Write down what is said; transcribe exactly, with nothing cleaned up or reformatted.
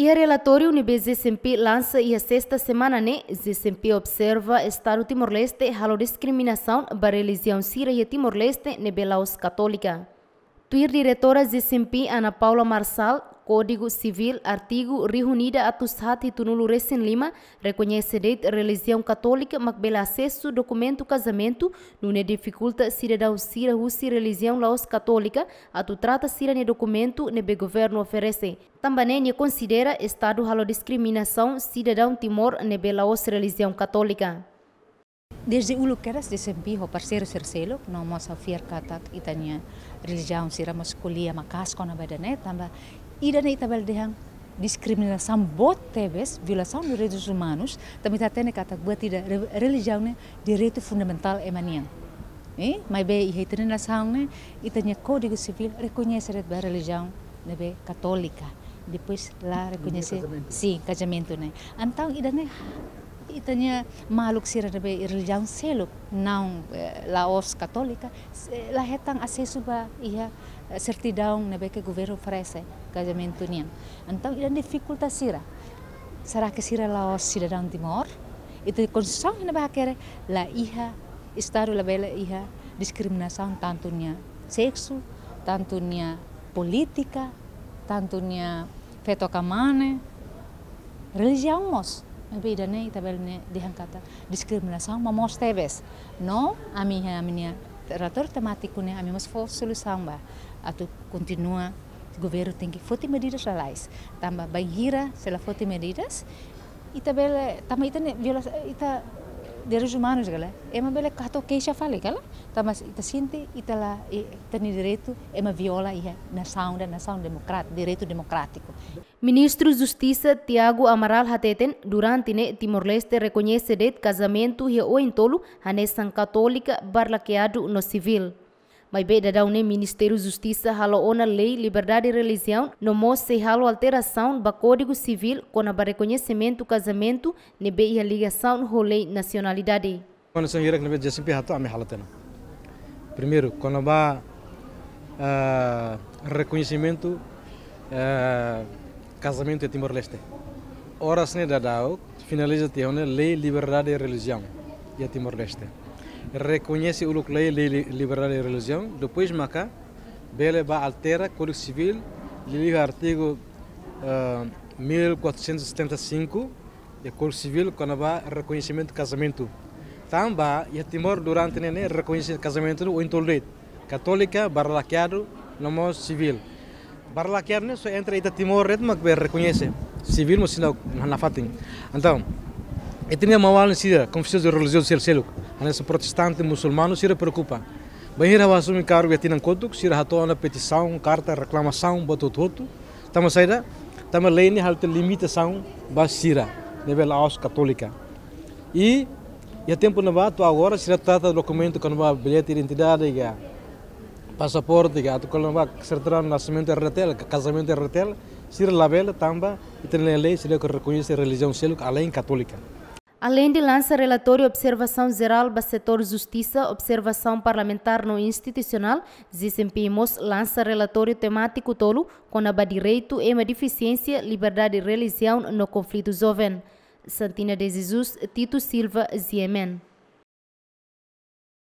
Iha relatóriu ne'ebé G C M P lansa iha sesta semana ne'e, G C M P observa Estadu Timor-Leste halo diskriminasaun ba relijiaun sira iha Timor-Leste ne'ebé la'ós Katólika. Tuir diretora G C M P Ana Paula Marçal, Kódigu Sivíl, artigu rihun ida atus haat hitunulu resin lima, rekoñese de'it relijiaun Katólika mak bele asesu dokumentu kazamentu, nune'e difikulta sidadaun sira husi relijiaun la'ós Katólika atu trata sira-nia dokumentu ne'ebé governu oferese. Tanba ne'e nia konsidera Estadu halo diskriminasaun sidadaun Timor ne'ebé la'ós relijiaun Katólika. Desde uluk kedas G C M P ho parseiru sira seluk, no mós ha'u fiar katak ita-nia relijiaun sira mós ko'alia maka'as kona-ba ida-ne'e, tanba ida-ne'e ita bele dehan diskriminasaun boot tebes, violasaun de direitus umanus, tanba ita hatene katak buat ida re-, relijiaun ne'e direitu fundamentál ema nian. Eh, maibé iha ita-nia nasaun ne'e, ita-nia Kódigu Sivíl rekoñese de'it ba relijiaun ne'ebé Katólika. Depois la rekoñese, kazamentu. Sin, kazamentu ne'e. Entaun ida-ne'e ita-nia maluk sira ne'ebé relijiaun seluk, não, eh, la'ós Katólika, se-, la hetan asesu ba iha, eh, sertidaun ne'ebé ke governu oferese kazamentu nian. Entaun ida difikulta sira. Será ke sira la'ós sidadaun Timor? Ita-nia Konstituisaun ne'ebé hakerek la iha, Estadu labele iha diskriminasaun tantu nia seksu, tantu nia polítika, tantu nia feto ka mane, relijiaun mós. Maibé ida-ne'e ita bele dehan katak diskriminasaun, mas moos tebes. No, ami iha ami-nia relatóriu temátiku ne'e, ami mós fó solusaun ba atu kontinua governu tenke foti medidas lalais. Tanba bainhira se la foti medidas, ita bele, tanba ita-nia viola-, ita direitus umanus ka lae, ema bele hato'o keixa fali ka lae, tanba ita sente ita la, i-, ita-nia direitu ema viola iha nasaun ida, nasaun demokrat-, direitu demokrátiku. Ministru Justisa Tiago Amaral hateten, durante ne'e Timor-Leste rekoñese de'it kazamentu iha oin tolu, hanesan Katólika, Barlakeadu no Sivíl. Maibé daudaun ne'e Ministériu Justisa halo ona lei liberdade relijiaun, no mós sei halo alterasaun ba Kódigu Sivíl kona-ba rekoñesimentu kazamentu ne'ebé iha ligasaun ho lei nasionalidade. Kondisaun hirak ne'ebé G C M P hato'o, ami halo tiha ona. Primeiru, kona-ba, eh, rekoñesimentu, eh, kazamentu iha Timor-Leste. Oras ne'e daudaun finaliza tiha ona lei liberdade relijiaun iha Timor-Leste. Rekoñese uluk lei, lei li-, liberdade relijiaun, depois maka bele bá altera Kódigu Sivíl, liuliu artigu, eh, mil quatrocentos e setenta e cinco, iha Kódigu Sivíl, kona-ba rekoñesimentu kazamentu. Tanba iha Timor durante ne'e, ne'e rekoñese kazamentu ne'e oin tolu de'it. Katólika, Barlakeadu, no mós Sivíl. Barlakeadu ne'e só entre ita Timor de'it mak bele rekoñese. Sivíl mós seidauk nafatin. Entaun, ita-nia maun-alin sira, konfesaun de relijiaun sira seluk, hanesan protestante, musulmanu, sira preokupa. Bainhira ha'u asume kargu iha tinan kotuk, sira hato'o ona petisaun, karta, reklamasaun, buat hotu-hotu. Tanba saida, tanba lei ne'e halo tiha limitasaun ba sira ne'ebé la'ós Katólika. I iha tempu ne'ebá to'o agora sira trata dokumentu kona-ba billete identidade ka pasaporte ka atu kona-ba sertidaun nasamentu R D T L, ka kazamentu R D T L, sira labele tanba ita-nia lei seidauk rekoñese relijiaun seluk alein Katólika. Aleinde lansa relatóriu observasaun jerál ba setór justisa, observasaun parlamentár no institusionál, G C M P mós lansa relatóriu temátiku tolu kona-ba direitu ema defisiénsia, liberdade relijiaun no konflitu joven. Santina de Jesus, Tito Silva, G M N.